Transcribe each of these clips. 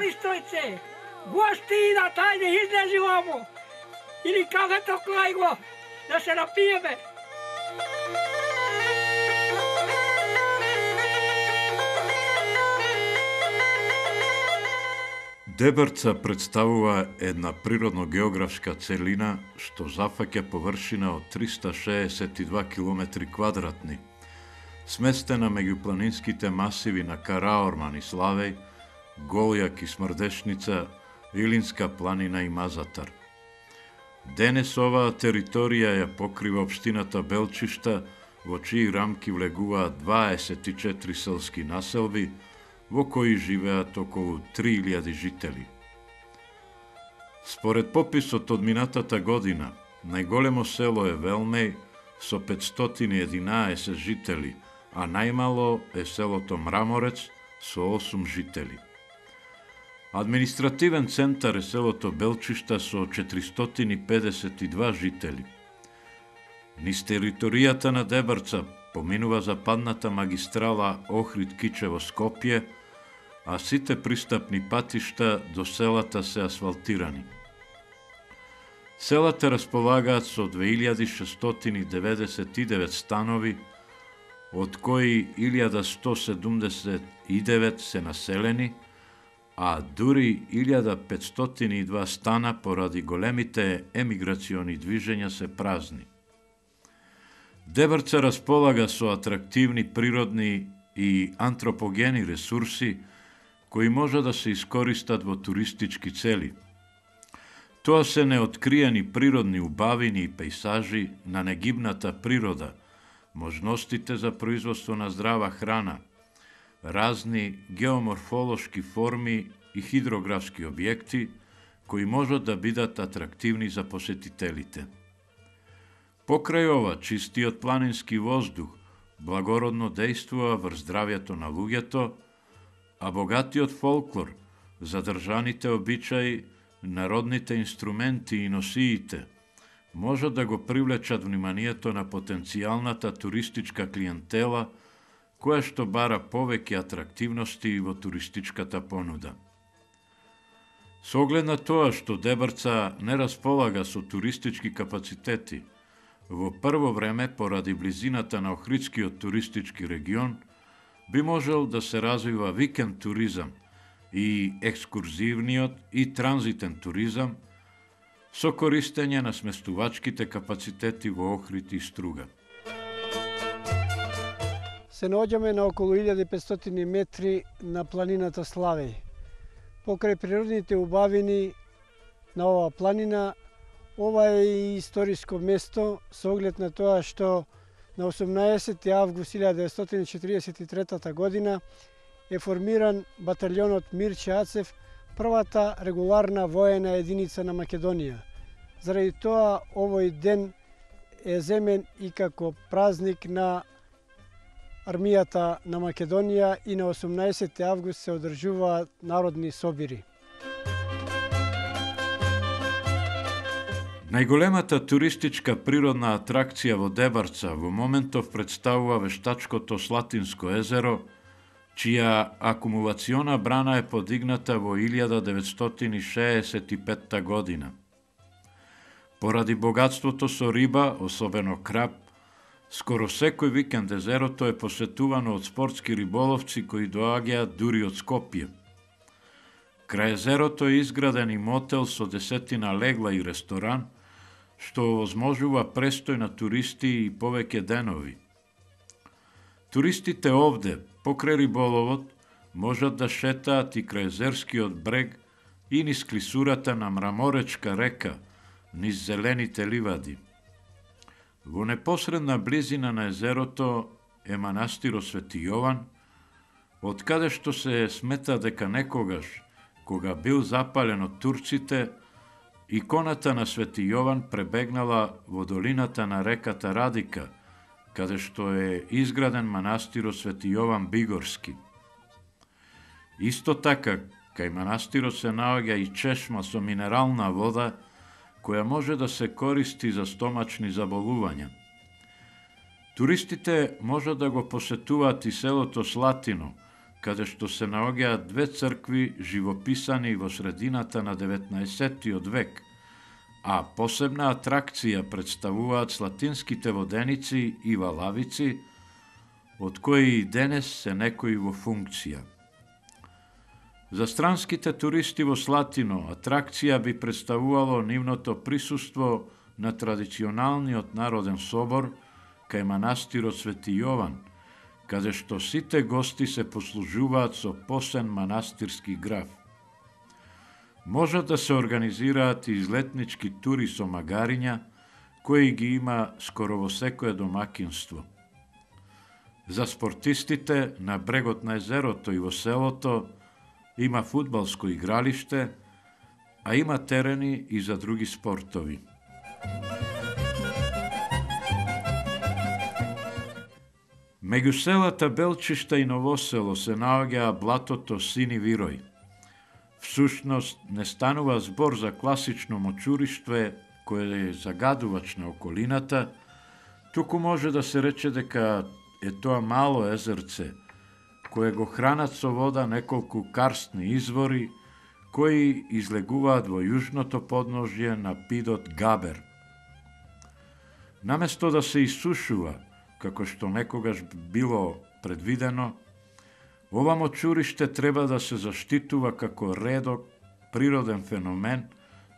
мали стојце, гости идат, ајде излези вамо. Или кафето клај го, да се напиеме. Дебрца представува една природно-географска целина што зафаќа површина од 362 километри квадратни, сместена меѓу планинските масиви на Караорман и Славеј, Голјак и Смрдешница, Илинска планина и Мазатар. Денес оваа територија ја покрива општината Белчишта, во чии рамки влегуваат 24 селски населби, во кои живеат околу 3000 жители. Според пописот од минатата година, најголемо село е Велмеј со 511 жители, а најмало е селото Мраморец со 8 жители. Административен центар е селото Белчишта со 452 жители. Низ територијата на Дебрца поминува западната магистрала Охрид-Кичево-Скопје, а сите пристапни патишта до селата се асфалтирани. Селата располагаат со 2699 станови, од кои 1179 се населени, а дури 1502 стана поради големите емиграциони движења се празни. Дебрца располага со атрактивни природни и антропогени ресурси кои може да се искористат во туристички цели. Тоа се неоткриени природни убавини и пејсажи на негибната природа, можностите за производство на здрава храна, разни геоморфолошки форми и хидрографски објекти кои можат да бидат атрактивни за посетителите. Покрај ова, чистиот планински воздух благородно дејствува врз здравјето на луѓето, а богатиот фолклор, задржаните обичаи, народните инструменти и носиите можат да го привлечат вниманието на потенцијалната туристичка клиентела, која што бара повеќе атрактивности во туристичката понуда. Со оглед на тоа што Дебрца не располага со туристички капацитети, во прво време, поради близината на Охридскиот туристички регион, би можел да се развива викенд туризам и екскурзивниот и транзитен туризам со користење на сместувачките капацитети во Охрид и Струга. Се наоѓаме на околу 1500 метри на планината Славеј. Покрај природните убавини на оваа планина, ова е историско место со оглед на тоа што на 18 август 1943 година е формиран баталјонот Мирче Ацев, првата регуларна воена единица на Македонија. Заради тоа овој ден е земен и како празник на армијата на Македонија и на 18 август се одржуваат народни собири. Најголемата туристичка природна атракција во Дебрца во моментов представува вештачкото Слатинско езеро, чија акумулациона брана е подигната во 1965 година. Поради богатството со риба, особено краб, скоро секој викенд езерото е посетувано од спортски риболовци кои доаѓаат дури од Скопје. Крај езерото е изграден и мотел со 10 легла и ресторан, што овозможува престој на туристи и повеќе денови. Туристите овде, покрај риболовот, можат да шетаат и крај езерскиот брег и низ клисурата на Мраморечка река, низ зелените ливади. Во непосредна близина на езерото е манастирот Свети Јован, од каде што се смета дека некогаш, кога бил запален од турците, иконата на Свети Јован пребегнала во долината на реката Радика, каде што е изграден манастирот Свети Јован Бигорски. Исто така, кај манастирот се наоѓа и чешма со минерална вода, која може да се користи за стомачни заболувања. Туристите можат да го посетуваат и селото Слатино, каде што се наоѓаат две цркви живописани во средината на 19. век, а посебна атракција представуваат слатинските воденици и валавици, од кои и денес се некои во функција. За странските туристи во Слатино, атракција би представувало нивното присуство на традиционалниот народен собор кај манастирот Свети Јован, каде што сите гости се послужуваат со посен манастирски граф. Можат да се организираат и излетнички тури со магариња, кои ги има скоро во секое домакинство. За спортистите на брегот на езерото и во селото има фудбалско игралиште, а има терени и за други спортови. Меѓу селата Белчишта и Новосело се наоѓа блатото Сини Вирој. Всушност не станува збор за класично мочуриште кое е загадувач на околината, туку може да се рече дека е тоа мало езерце, кое го хранат со вода неколку карстни извори, кои излегуваат во јужното подножје на пидот Габер. Наместо да се исушува, како што некогаш било предвидено, ова мочуриште треба да се заштитува како редок, природен феномен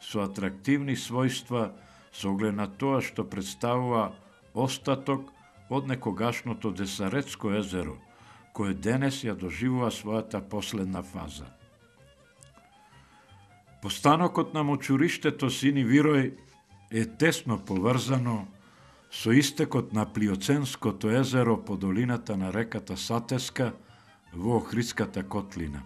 со атрактивни својства со оглед на тоа што представува остаток од некогашното Десаретско езеро, кое денес ја доживува својата последна фаза. Постанокот на мочуриштето Сини Вирој е тесно поврзано со истекот на Плиоценското езеро по долината на реката Сатеска во Охридската котлина.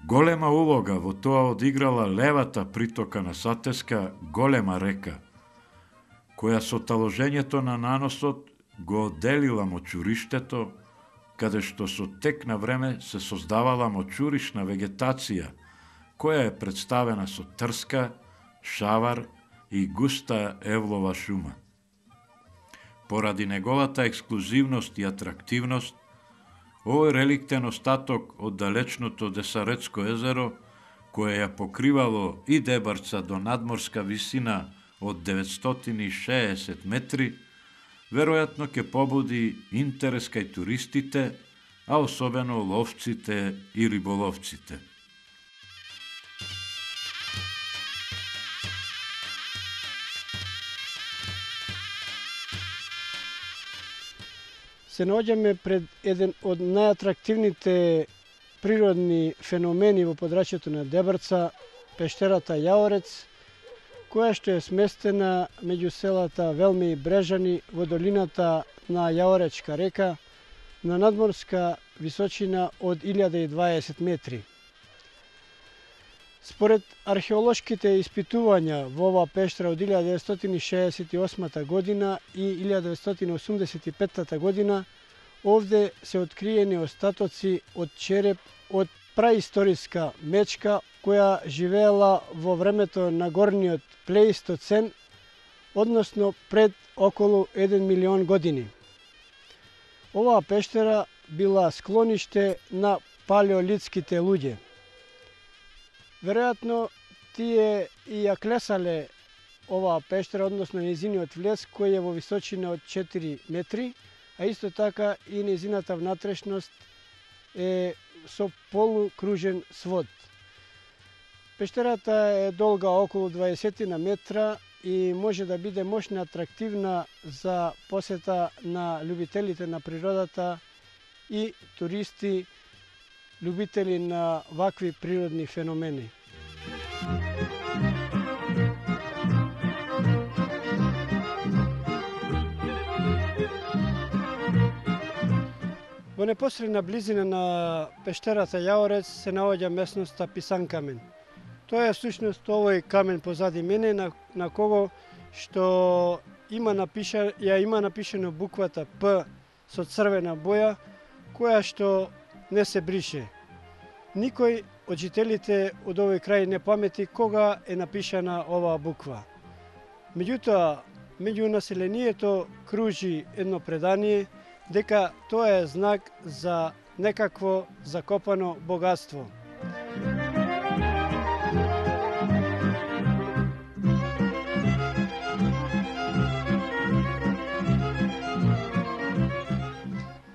Голема улога во тоа одиграла левата притока на Сатеска, голема река, која со таложењето на наносот го одделила мочуриштето, каде што со тек на време се создавала мочуришна вегетација, која е представена со трска, шавар и густа евлова шума. Поради неговата ексклузивност и атрактивност, овој реликтен остаток од далечното Десаретско езеро, кое ја покривало и Дебарца до надморска висина од 960 метри, веројатно ќе побуди интерес кај туристите, а особено ловците и риболовците. Се наоѓаме пред еден од најатрактивните природни феномени во подрачјето на Дебарца, пештерата Јаорец, која што е сместена меѓу селата Велме и Брежани во долината на Јаоречка река на надморска височина од 1020 метри. Според археолошките испитувања во оваа пештера од 1968 година и 1985 година, овде се откриени остатоци од череп од праисториска мечка која живеела во времето на горниот Плеистоцен, односно пред околу 1 милион години. Оваа пештера била склониште на палеолитските луѓе. Веројатно тие и ја клесале оваа пештера, односно нејзиниот влез, кој е во височина од 4 метри, а исто така и нејзината внатрешност е со полукружен свод. Пештерата е долга околу 20 метра и може да биде мощна атрактивна за посета на љубителите на природата и туристи, љубители на вакви природни феномени. Во непосредна близина на пештерата Јаорец се наоѓа местноста Писанкамен. Тоа е всушност овој камен позади мене на кого што има напишано буквата П со црвена боја, која што не се брише. Никој од жителите од овој крај не памети кога е напишана оваа буква. Меѓутоа, меѓу населението кружи едно предание дека тоа е знак за некакво закопано богатство.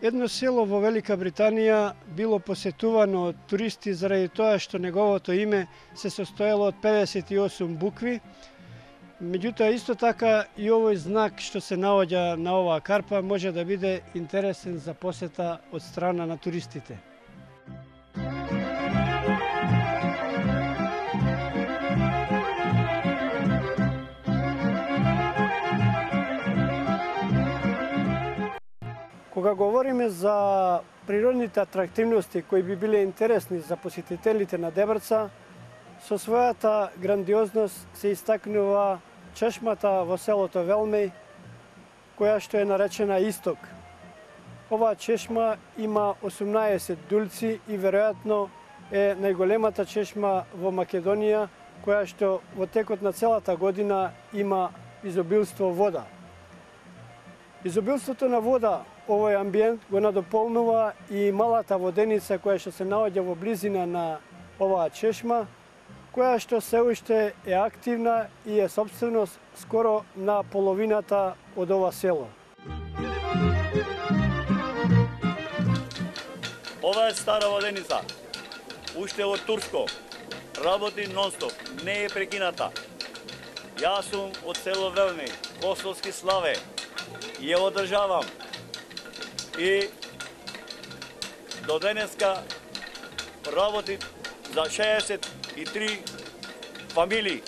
Едно село во Велика Британија било посетувано од туристи заради тоа што неговото име се состоело од 58 букви. Меѓутоа, исто така и овој знак што се наоѓа на оваа карпа може да биде интересен за посета од страна на туристите. Кога говориме за природните атрактивности кои би биле интересни за посетителите на Дебрца, со својата грандиозност се истакнува чешмата во селото Велмеј, која што е наречена Исток. Оваа чешма има 18 дулци и веројатно е најголемата чешма во Македонија, која што во текот на целата година има изобилство вода. Изобилството на вода овој амбиент го надополнува и малата воденица која што се наоѓа во близина на оваа чешма, која што се уште е активна и е собственост скоро на половината од ова село. Ова е стара воденица, уште од турско, работи нонстоп, не е прекината. Јас сум од село Велмеј, Косовски Славе, и ја одржавам. И до денеска работи за 63 фамилии,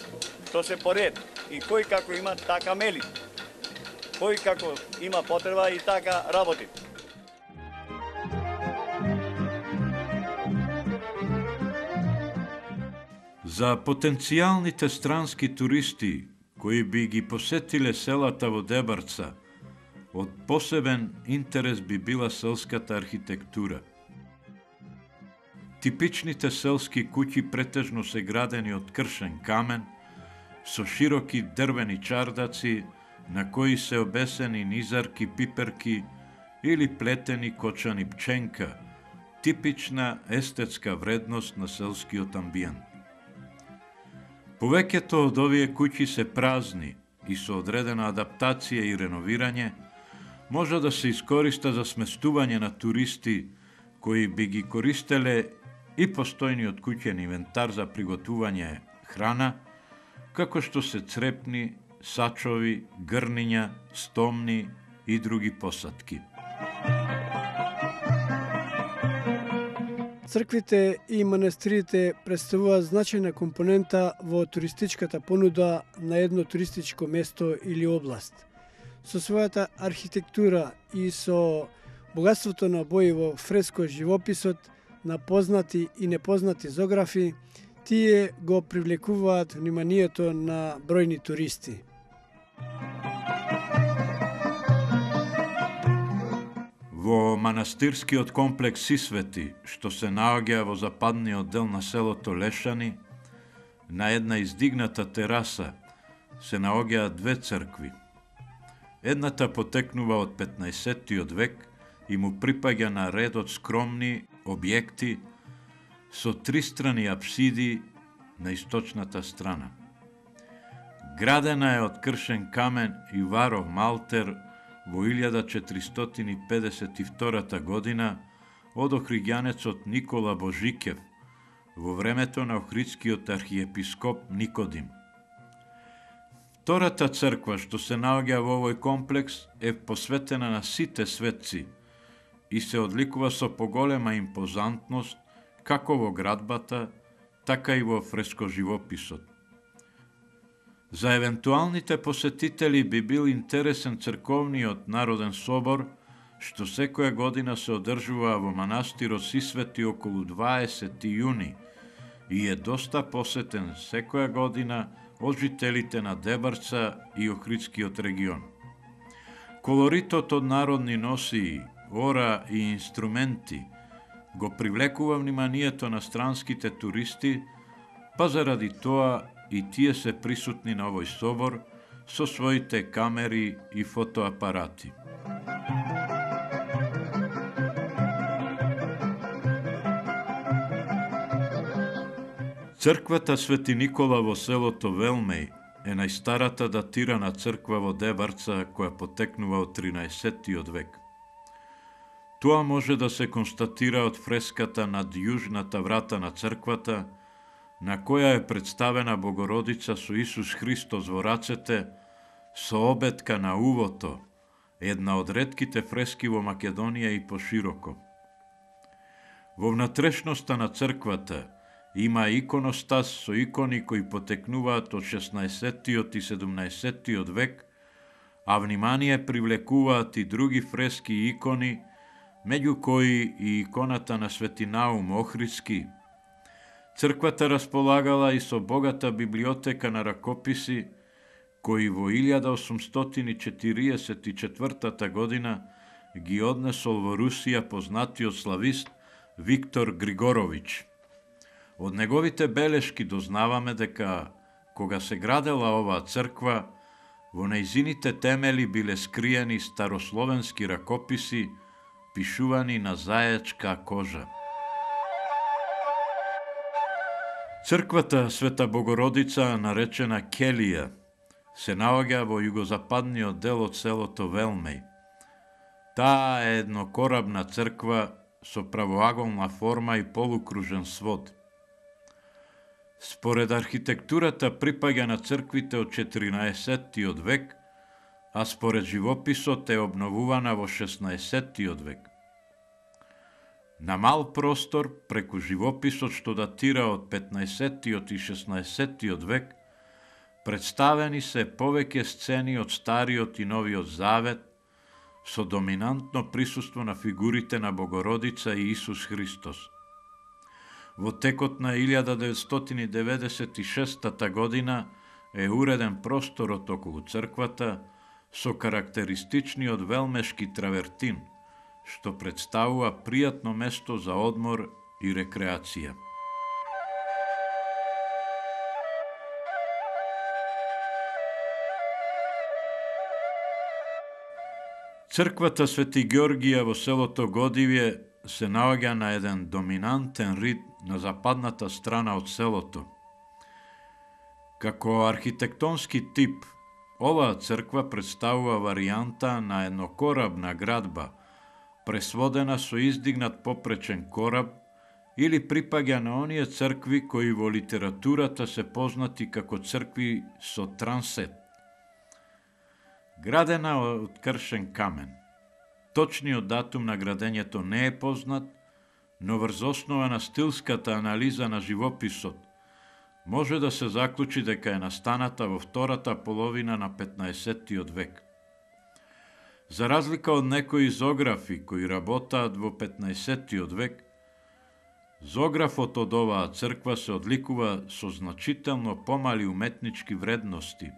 што се поред. И кој како има, така мели. Кој како има потреба и така работи. За потенцијалните странски туристи кои би ги посетиле селата во Дебрца, од посебен интерес би била селската архитектура. Типичните селски куќи претежно се градени од кршен камен, со широки дрвени чардаци на кои се обесени низарки, пиперки или плетени кочани пченка, типична естетска вредност на селскиот амбиент. Повеќето од овие куќи се празни и со одредена адаптација и реновирање може да се искориста за сместување на туристи кои би ги користеле и постојниот куќен инвентар за приготување храна, како што се црепни, сачови, грниња, стомни и други посадки. Црквите и манастирите представуваат значајна компонента во туристичката понуда на едно туристичко место или област. Со својата архитектура и со богатството на бои во фреско живописот, на познати и непознати зографи, тие го привлекуваат вниманието на бројни туристи. Во манастирскиот комплекс Сисвети, што се наоѓа во западниот дел на селото Лешани, на една издигната тераса се наоѓаат две цркви. Едната потекнува од 15-тиот век и му припаѓа на ред од скромни објекти со тристрани апсиди на источната страна. Градена е од кршен камен и варов малтер во 1452 година од охриѓанецот Никола Божикев во времето на охридскиот архиепископ Никодим. Втората црква што се наоѓа во овој комплекс е посветена на сите светци и се одликува со поголема импозантност како во градбата, така и во фрескоживописот. За евентуалните посетители би бил интересен црковниот народен собор, што секоја година се одржува во манастирот Сисвети околу 20 јуни и е доста посетен секоја година од жителите на Дебрца и Охридскиот регион. Колоритот од народни носии, ора и инструменти го привлекува вниманието на странските туристи, па заради тоа и тие се присутни на овој собор со своите камери и фотоапарати. Црквата Свети Никола во селото Велмеј е најстарата датирана црква во Дебарца која потекнува од 13-тиот век. Тоа може да се констатира од фреската над јужната врата на црквата, на која е представена Богородица со Исус Христос во рацете, со обетка на увото, една од ретките фрески во Македонија и пошироко. Во внатрешноста на црквата има иконостас со икони кои потекнуваат од 16-тиот и 17-тиот век, а внимание привлекуваат и други фрески и икони, меѓу кои и иконата на Свети Наум Охридски. Црквата располагала и со богата библиотека на ракописи, кои во 1844 година ги однесол во Русија познатиот славист Виктор Григорович. Од неговите белешки дознаваме дека, кога се градела оваа црква, во нејзините темели биле скриени старословенски ракописи, пишувани на заечка кожа. Црквата Света Богородица, наречена Келија, се наоѓа во југозападниот дел од селото Велмеј. Таа е еднокорабна црква со правоаголна форма и полукружен свод. Според архитектурата припаѓа на црквите од 14-тиот век, а според живописот е обновувана во 16-тиот век. На мал простор, преку живописот што датира од 15-тиот и 16-тиот век, представени се повеќе сцени од Стариот и Новиот Завет, со доминантно присуство на фигурите на Богородица и Исус Христос. Во текот на 1996 година е уреден просторот околу црквата со карактеристичниот велмешки травертин, што представува пријатно место за одмор и рекреација. Црквата Свети Георгија во селото Годивје се наоѓа на еден доминантен рид на западната страна од селото. Како архитектонски тип, оваа црква представува варијанта на еднокорабна градба, пресводена со издигнат попречен кораб, или припаѓа на оние цркви кои во литературата се познати како цркви со трансет. Градена од кршен камен. Точниот датум на градењето не е познат, но врз основа на стилската анализа на живописот може да се заклучи дека е настаната во втората половина на 15-тиот век. За разлика од некои зографи кои работаат во 15-тиот век, зографот од оваа црква се одликува со значително помали уметнички вредности.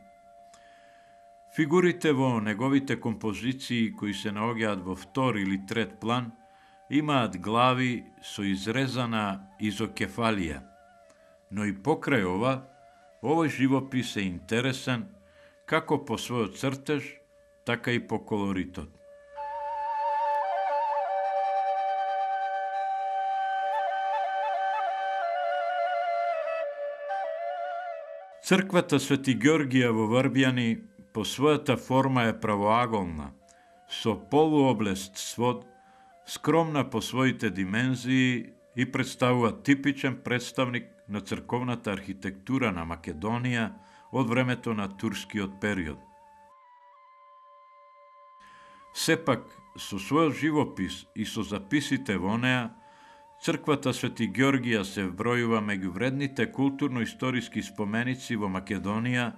Фигурите во неговите композиции кои се наоѓаат во втор или трет план имаат глави со изрезана изокефалија, но и покрај ова, овој живопис е интересен како по својот цртеж, така и по колоритот. Црквата Свети Георгија во Врбјани по својата форма е правоаголна, со полуоблест свод, скромна по своите димензии и представува типичен представник на црковната архитектура на Македонија од времето на турскиот период. Сепак, со својот живопис и со записите во неа, црквата Свети Георгија се вбројува меѓу вредните културно-историски споменици во Македонија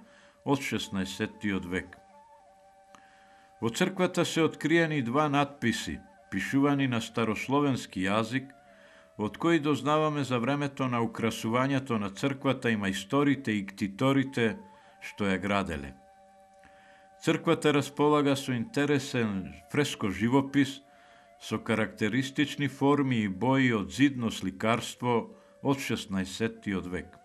од 16-тиот век. Во црквата се откриени два надписи, пишувани на старословенски јазик, од кои дознаваме за времето на украсувањето на црквата и мајсторите и ктиторите што ја граделе. Црквата располага со интересен фреско живопис, со карактеристични форми и бои од зидно сликарство од 16-тиот век.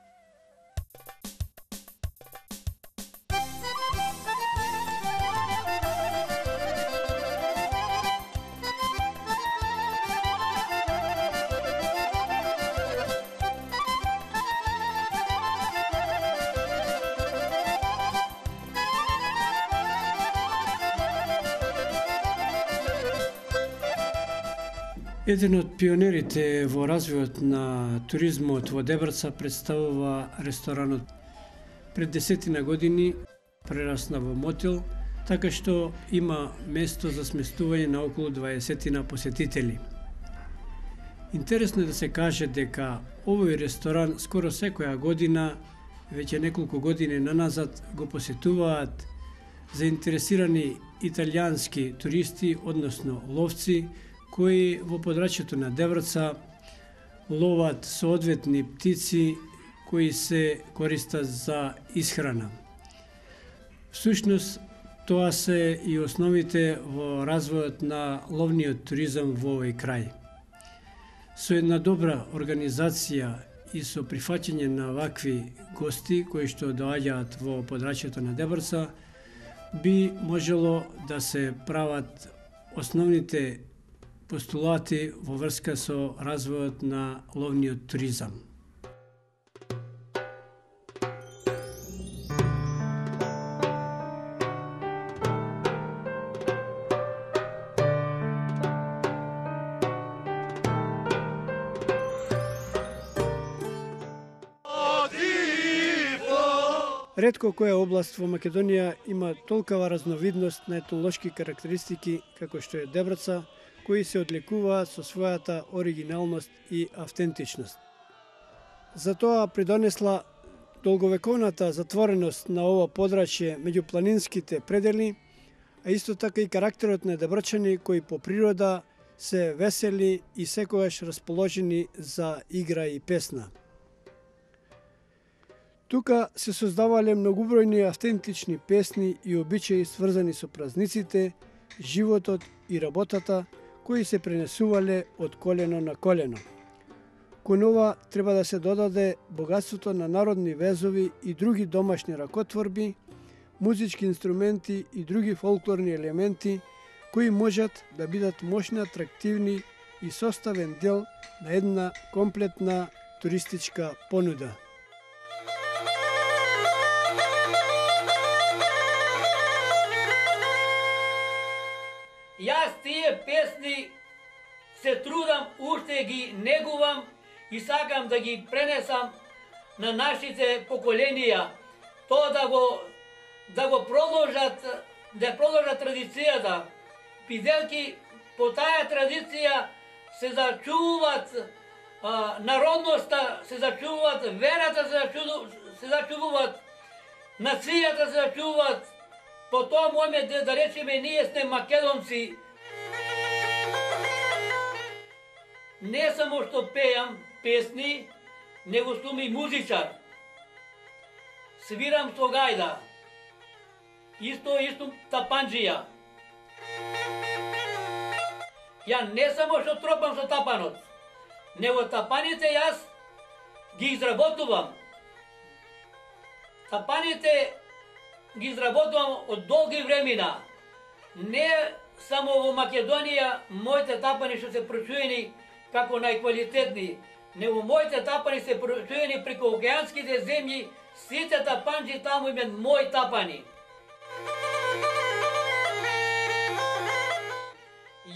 Еден од пионерите во развојот на туризмот во Дебраца представува ресторанот. Пред 10 години прерасна во мотел, така што има место за сместување на околу 20 посетители. Интересно е да се каже дека овој ресторан скоро секоја година, веќе неколку години наназад, го посетуваат заинтересирани италијански туристи, односно ловци, кои во подрачјето на Дебраца ловат соодветни птици кои се користат за исхрана. Всушност, тоа се и основите во развојот на ловниот туризам во овој крај. Со една добра организација и со прифаќање на вакви гости кои што доаѓаат во подрачјето на Дебраца, би можело да се прават основните постулати во врска со развојот на ловниот туризам. Ретко која област во Македонија има толкова разновидност на етнолошки карактеристики како што е Дебраца, кои се одликуваат со својата оригиналност и автентичност. Затоа придонесла долговековната затвореност на ова подрачје меѓу планинските предели, а исто така и карактерот на дебрачани кои по природа се весели и секогаш расположени за игра и песна. Тука се создавале многубројни автентични песни и обичаи сврзани со празниците, животот и работата, кои се пренесувале од колено на колено. Кон ова треба да се додаде богатството на народни везови и други домашни ракотворби, музички инструменти и други фолклорни елементи, кои можат да бидат мощни, атрактивни и составен дел на една комплетна туристичка понуда. Јас тие песни се трудам, уште ги негувам и сакам да ги пренесам на нашите поколенија, тоа да го продолжат, да продолжат традицијата. Бидејќи по таа традиција се зачувуваат народноста, се зачувуваат верата, се зачувуваат нацијата, се зачувуваат. По тоа момент да речеме ние сме македонци. Не само што пеам песни, него сум и музичар. Свирам со гајда. Исто тапанџија. Ја не само што тропам со тапанот, него тапаните јас ги изработувам. Тапаните ги изработувам од долги времена. Не само во Македонија моите тапани што се прочуени како најквалитетни, него моите тапани се прочуени преку океанските земји, сите тапанџи таму имат мои тапани.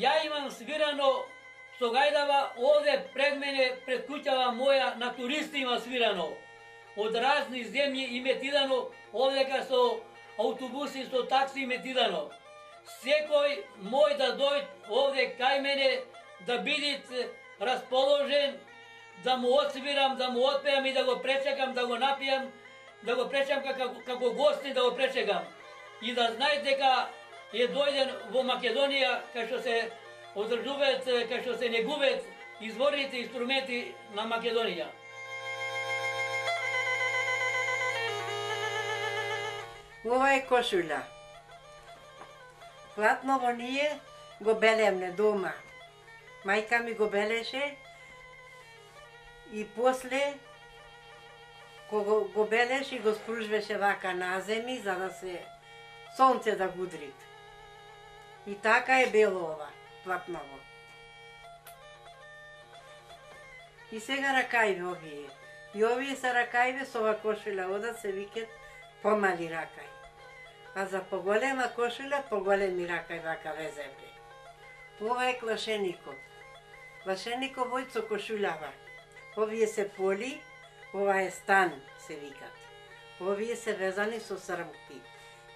Ја имам свирано со гајдава овде пред мене, пред куќава моја, на туристи има свирано. Од разни земји им е тидано, овдека со автобуси, со такси им е тидано. Секој мој да дојде овде кај мене, да бидит расположен, да му отсвирам, да му отпеам и да го пречекам, да го напијам, да го пречекам како гости, да го пречекам. И да знаете дека е дојден во Македонија, кај што се одржуваат, кај што се негуваат изворните инструменти на Македонија. Ова е кошуља. Платно во ние го белемне дома. Мајка ми го белеше и после кога го белеше го спружвеше вака на земи за да се сонце да гудри. И така е бело ова, платново. И сега ракајве овие. И овие се ракајве со ова кошуља одат се викат помали ракај. А за поголема кошуља, поголеми ракај вака веземе. Ова е клашеникот. Лашеников војцо кошулява. Овие се поли, ова е стан, се викат. Овие се везани со срмки.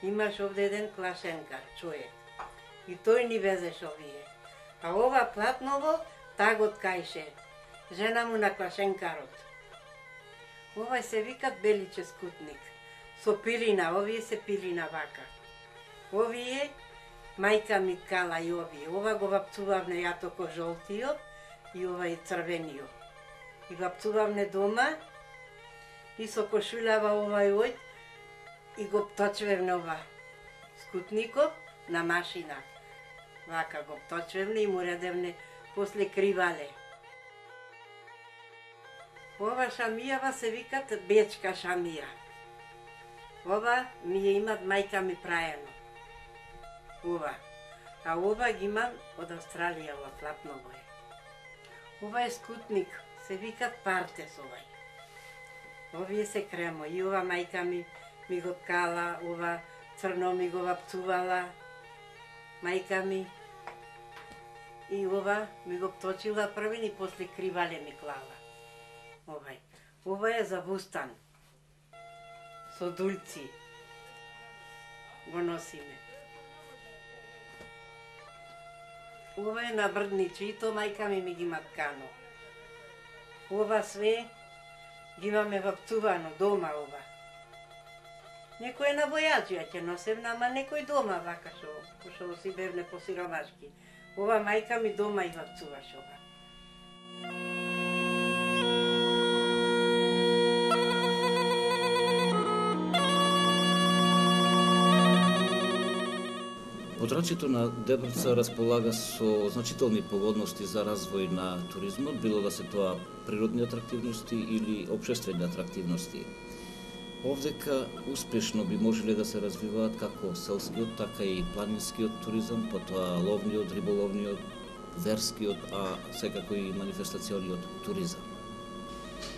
Имаш овде еден клашенкар, човек. И тој ни везеш овие. А ова платново, тагот кајше. Жена му на клашенкарот. Овај се викат беличе скутник. Со пилина, овие се пилина вака. Овие, мајка ми ткала и овие. Ова го вапцувавне јатоко жолтиот и ова и црвениот. И вапцувавне дома и со кошулява овај ојд и го пточвевне ова скутников на машина. Вака го пточвевне и му редевне после кривале. Ова шамијава се викат бечка шамија. Ова ми ја имат мајка ми праено. Ова. А ова ги имам од Австралија, ова платново е. Ова е скутник, се викат партес овај. Овие се кремо. И ова мајка ми го ткала, ова црно ми го вапцувала, мајка ми. И ова ми го пточила првин и после кривале ми клала. Овај. Ова е за вустан. Со дульци. Го носиме. Ова е на брдничи, и то мајка ми ги има ткано. Ова све ги имаме вапцувано дома ова. Некој е на војаџија ќе носевна, ама некој дома вака што си бевне по сиромашки. Ова мајка ми дома и вапцуваш ова. Подрачјето на Дебрца располага со значителни погодности за развој на туризмот, било да се тоа природни атрактивности или општествени атрактивности. Овдека успешно би можеле да се развиваат како селскиот, така и планинскиот туризам, потоа ловниот, риболовниот, верскиот, а секако и манифестациониот туризам.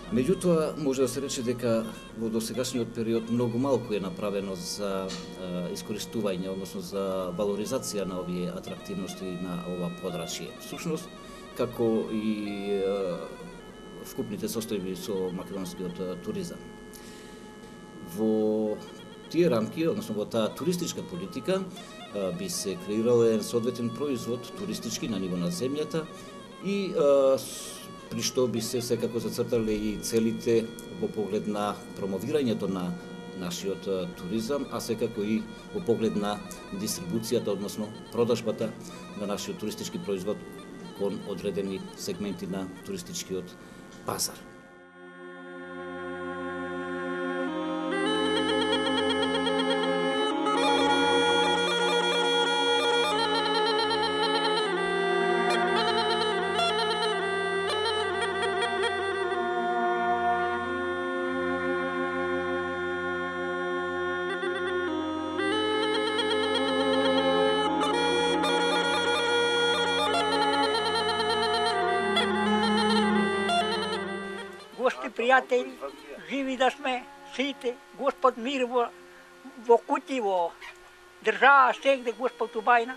Меѓутоа, може да се рече дека во досегашниот период многу малку е направено за искористување, односно за валоризација на овие атрактивности на ова подрачје. Всушност, како и вкупните состојби со македонскиот туризам. Во тие рамки, односно во таа туристичка политика, би се креирал еден соодветен производ туристички на ниво на земјата и при што би се секако зацртале и целите во поглед на промовирањето на нашиот туризам, а секако и во поглед на дистрибуцијата, односно продажбата на нашиот туристички производ кон одредени сегменти на туристичкиот пазар. Пријатели, живи да сме сите, Господ мир во куќи, во држава, сегде Господ убајна.